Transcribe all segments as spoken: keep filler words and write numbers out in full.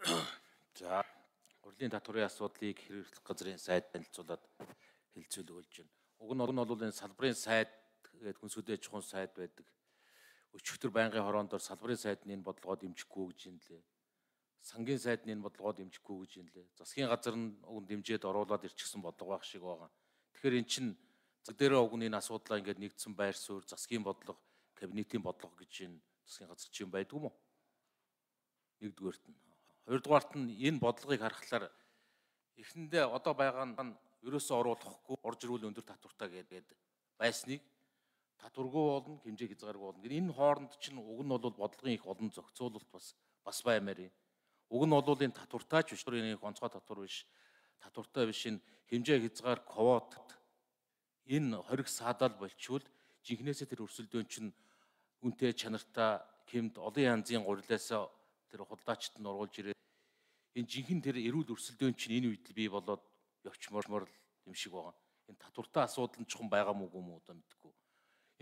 За, урлагийн татварын асуудлыг хэрэгжүүлэх газрын сайд танилцуулаад хэлцүүлэг болж байна. Уг нь бол энэ салбарын сайд гэдэг хүнсгүүдээ чухал сайд байдаг. Өчигдөр байнгын хороондор салбарын сайдны энэ бодлогоо дэмжихгүй гэж юм лээ. Сангийн сайдны энэ бодлогоо дэмжихгүй гэж юм лээ. Засгийн газар нь уг дэмжээд оруулаад ирчихсэн бодлого байх шиг байгаа. Тэгэхээр эн чинь зэг дээрээ уг нь энэ асуудлаа ингээд нэгдсэн байр суурь, засгийн бодлого, кабинетийн бодлого гэж энэ засгийн газар чинь байдгүй мó? Нэгдүгээрт нь. Хоёрдугаарт нь энэ бодлогыг харахаар эхэндээ одоо байгаа нь ерөөсөө оруулахгүй орж ирүүл өндөр татвартай гэдэг байсныг татваргүй болно, хэмжээ хязгааргүй болно. Энэ хооронд чинь уг нь бол бодлогын их олон зохицуулалт бас бас баймаар юм. Уг нь бол энэ татвартайч биш, энэ онцгой татвар биш, татвартай биш энэ хэмжээ хязгаар квот энэ хориг саадал болчвол жинхнээсээ тэр өрсөлдөөн чинь үнэтэй чанартай хэмд олон янзын гурилаасаа тэр худалдаачд нь оруулж ирээд энэ жинхэнэ тэр эрүүл өрсөлдөөн чинь энэ үед л бий болоод явчмаар юм шиг байгаа. Энэ татвартай асуудал нь чухам байгаа мүү юм уу одоо мэдэхгүй.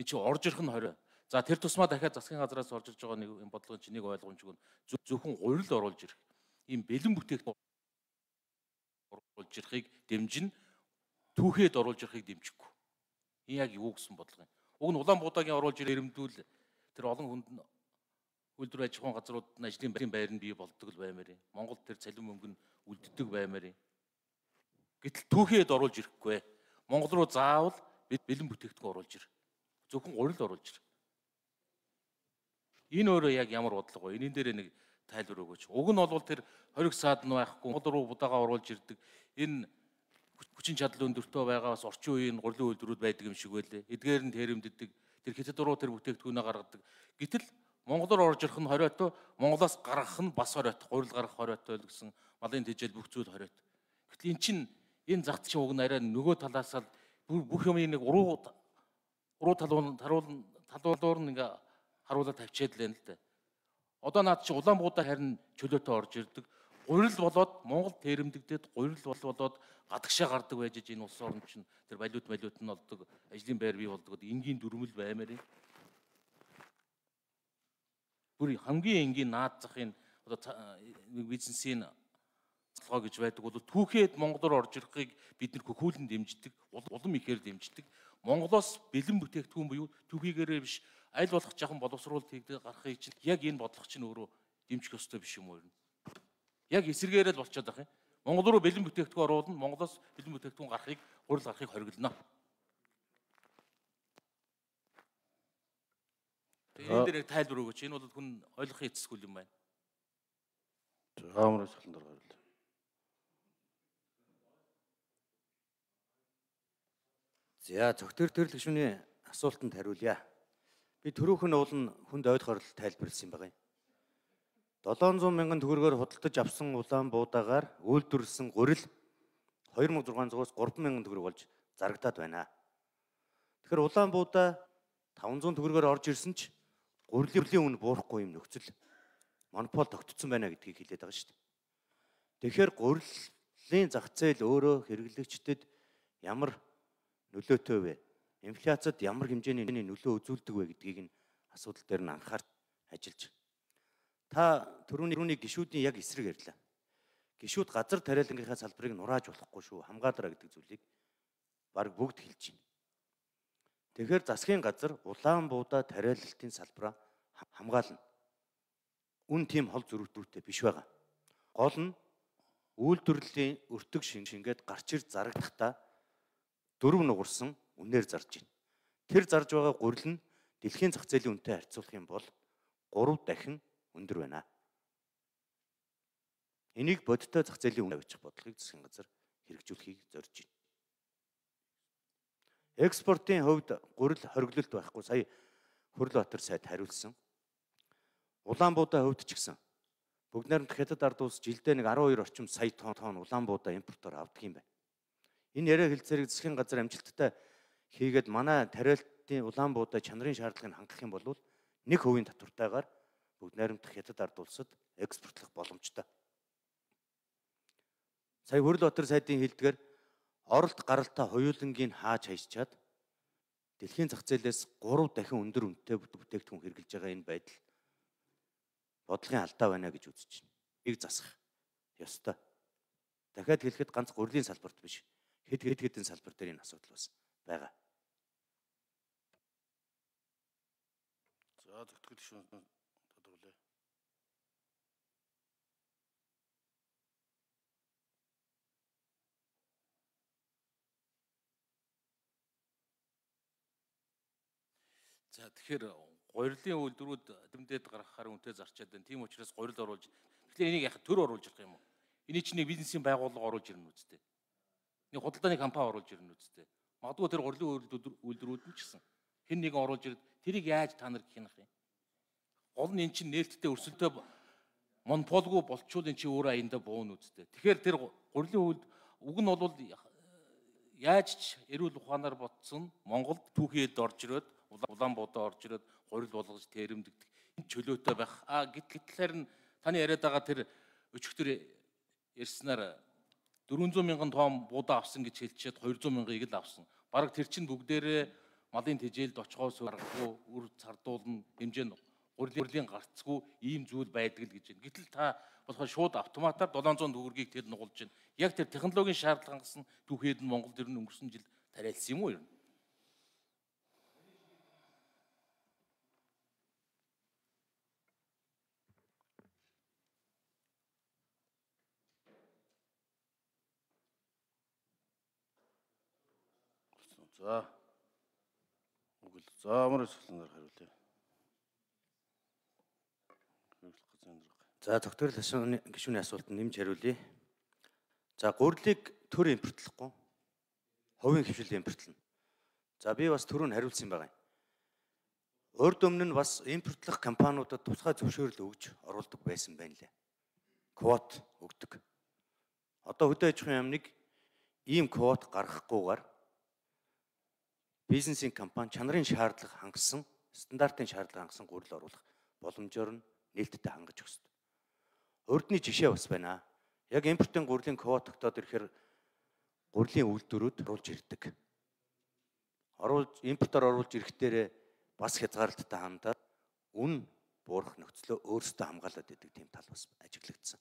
Энэ чинь орж ирэх нь хорой. За тэр тусмаа дахиад засгийн газраас орж ирж байгаа нэг энэ бодлогын чинь нэг ойлгомжгүй нь зөвхөн гурил оруулж ирэх. Ийм бэлэн бүтээгдэхүүн оруулж ирэхийг дэмжин түүхэд оруулж ирэхийг дэмжихгүй. Энэ яг юу гэсэн бодлого юм? Уг нь Улаанбуудаагийн оруулж ирэмдүүл тэр олон хүнд үйлдвэр аж ахуйн газрууд нь ажлын байр нь бий болдог л баймаар юм. Монголд тэр цалин мөнгө нь үлддэг баймаар юм. Гэтэл түүхэд оруулж ирэхгүй. Монгол руу заавал бэлэн бүтээгдэхүүн оруулж ир. Зөвхөн гурил оруулж ир. Энэ өөрөө яг ямар бодлого вэ? Энийн дээр нэг тайлбар өгөөч. Уг нь бол тэр хориг саад нь байхгүй, Монгол руу будаага оруулж ирдэг. Энэ хүчин чадал өндөртөө байгаа бас орчин үеийн гурилын үйлдвэрүүд байдаг юм шиг байлээ. Эдгээр нь тэрэмддэг. Тэр хятад руу тэр бүтээгдэхүүнээ гаргадаг. Гэтэл Монгол руу орж ирэх нь хориотой, Монголоос гаргах нь бас хориотой, гурил гаргах хориотой л гэсэн малын тэжээл бүх зүйл хориотой. Гэтэл эн чинь энэ зах зээлийн уг нь арай нөгөө талаас л бүх юм нэг уруу уруу талуун таруул талуулуур нь ингээ харуулаад тавьчаад л байна л да. Одоо наад чи Улаанбуудаа харин чөлөөтэй орж ирдэг. Гурил болоод Монгол тэрэмдэгдээд гурил болоод гадагшаа гардаг байж энэ улс орн чинь тэр валют валют нь олдог, ажлын байр бий болдог. Энгийн дүрмэл баймаар юм. Бүр хамгийн энгийн наад захын одоо бизнесийн цалгоо гэж байдаг бол түүхэд Монголоор орж ирэхийг бид нэр хөхүүлэн дэмждэг, улам ихээр дэмждэг. Монголоос бэлэн бүтээгдэхүүн буюу түүхийгээрээ биш аль болох жахан боловсруулалт хийгдэж гарахыг чинь яг энэ бодлого чинь өөрөө дэмжих ёстой биш юм уу юм. Яг эсэргээрээ л болчиход байгаа юм. Монгол руу бэлэн бүтээгдэхүүн оруулна, Монголоос бэлэн бүтээгдэхүүн гарахыг хурал гарахыг хориглоно. Энэ дээр тайлбар өгөөч. Энэ бол хүн ойлгохын эцэсгүй юм байна. Хаамраас хэлэн дор гарвал. За зөвхөн төрөл гишүүний асуултанд хариулъя. Би түрүүхэн уулын хүнд ойлгохоор тайлбарласан юм байна. долоон зуун мянган төгрөгөөр худалдаж авсан Улаанбуудаагаар үйлдвэрлэсэн гурил хоёр мың зургаан зугаас гурван мянган төгрөг болж зарагдаад байна. Тэгэхээр Улаанбуудаа таван зуун төгрөгөөр орж ирсэн ч гурилын үн буурахгүй юм нөхцөл монопол тогтцсон байна гэдгийг хэлээд байгаа шүү дээ. Тэгэхээр гурилын зах зээл өөрөө хэрэглэгчдэд ямар нөлөөтэй вэ? Инфляцид ямар хэмжээний нөлөө үзүүлдэг вэ гэдгийг нь асуудал дээр нь анхаарч ажиллаж. Та түрүүний гишүүдийн яг эсрэг ярьлаа. Гишүүд газар тариалангийнхаа салбарыг нурааж болохгүй шүү, хамгаалараа гэдэг зүйлийг баг бүгд хэлж байна. Тэгэхээр засгийн газар Улаанбуудаа тариалалтын салбараа хамгаална. Үн тийм хол зөрүүтэй биш байгаа. Гол нь үйлдвэрлэлийн өртөг шингээд гарч ир зарагдахдаа дөрөв нугарсан үнээр зарж байна. Тэр зарж байгаа гурил нь дэлхийн зах зээлийн үнэтэй харьцуулах юм бол гурав дахин өндөр байна. Энийг бодиттой зах зээлийн үн авчих бодлогыг засгийн газар хэрэгжүүлэхийг зорж байна. Экспортын хувьд гурил хориглолт байхгүй сая Хүрлбаатар сайд хариулсан. Улаанбуудаа хувьд ч гэсэн бүгд найрамдах хятад ард улс жилдээ нэг арван хоёр орчим сая тонн Улаанбуудаа импортоор авдаг юм байна. Энэ яриа хэлцээрийг засгийн газар амжилттай хийгээд манай тариалтын Улаанбуудаа чанарын шаардлагыг хангах юм бол нэг хувийн татвартайгаар бүгд найрамдах хятад ард улсад экспортлох боломжтой. Сая Хүрлбаатар сайдын хэлдгээр оролт гаралтаа хоёулангийн хааж хайчаад дэлхийн зах зээлээс гурав дахин өндөр үнэтэй бүтээгдэхүүн хэрэгжилж байгаа энэ байдал бодлогын алдаа байна гэж үзэж байна. Ийг засах. ёстой. Дахиад хэлэхэд ганц гурлийн салбарт биш. Хэд хэд хэдэн салбар дээр энэ асуудал бас байгаа. За тогтгол гишүүн тодорхойлъё. За тэгэхээр гурилын үйлдвэрүүд дэмдээд гаргахаар үнэтэй зарчаад байна. Тийм учраас гурил оруулж тэгэхээр энийг яг төр оруулж явах юм уу? Эний чинь нэг бизнесийн байгууллага оруулж ирнэ үстэй. Нэг худалдааны компани оруулж ирнэ үстэй. Магадгүй тэр гурилын үйлдвэрүүд нь ч гэсэн хэн нэгэн оруулж ирээд тэрийг яаж та нар гэх юм. Гол нь эн чинь нээлттэй өрсөлдөө монополгүй болчвол эн чинь өөр аяндаа буuna үстэй. Тэгэхээр тэр гурилын үйлд уг нь бол яаж ч эрүүл ухаанаар ботсон Монголд түүхийд орж ирээд Улаанбаатар орж ирээд гурил болгож тэрэмдэгдэх энэ чөлөөтэй байх. А гэтэл нь таны яриад байгаа тэр өчигдөр ярьснаар дөрвөн зуун мянган тонн буудаа авсан гэж хэлчихэд хоёр зуун мянгаыг л авсан. Бараг тэр чинь бүгдээрээ малын тэжээлд очихоос гарахгүй үр цардуулна хэмжээнд гурилын гарцгүй ийм зүйл байдаг л гэж байна. Гэтэл та болохоор шууд автоматар долоон зуун төгрөгийг тэр нугулж байна. Яг тэр технологийн шаардлага хангасан түүхийд нь Монголд ер нь өнгөрсөн жил тариалсан юм уу ер нь? За. Үгүй л за амар асуултаар хариулъя. За тогтворол гишүүний асуултанд нэмж хариулъя. За гурилыг төр импортлохгүй хувийн хвшил импортлно. За би бас түрүүн хариулсан юм байна. Урд өмнө нь бас импортлох компаниудад тусгай зөвшөөрөл өгж оруулдаг байсан байна лээ. Квот өгдөг. Одоо хөдөө аж ахуйн яамныг ийм квот гаргахгүйгээр бизнесийн компани чанарын шаардлага хангасан, стандартын шаардлага хангасан гурил оруулах боломжоор нь нээлттэй хангаж өгсөн. Урдны жишээ бас байна. Яг импортын гурилын квот тогтоод ирэхээр гурилын үйлдвэрүүд оруулж ирдэг. Оруулж импортоор оруулж ирэхдээ бас хязгаарлалттай хандаад үн буурах нөхцлөө өөрсдөө хамгаалаад идэг тийм тал бас ажиглагдсан.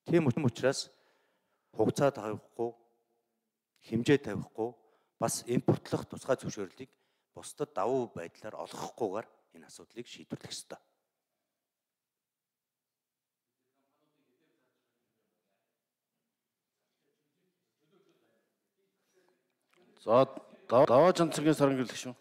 Тийм учраас хугацаа тавихгүй, хэмжээ тавихгүй бас импортлох тусгай зөвшөөрлийг бусдад давуу байдлаар олгохгүйгээр энэ асуудлыг шийдвэрлэх ёстой. За даваа жанцгийн саран гэрлэх шүү.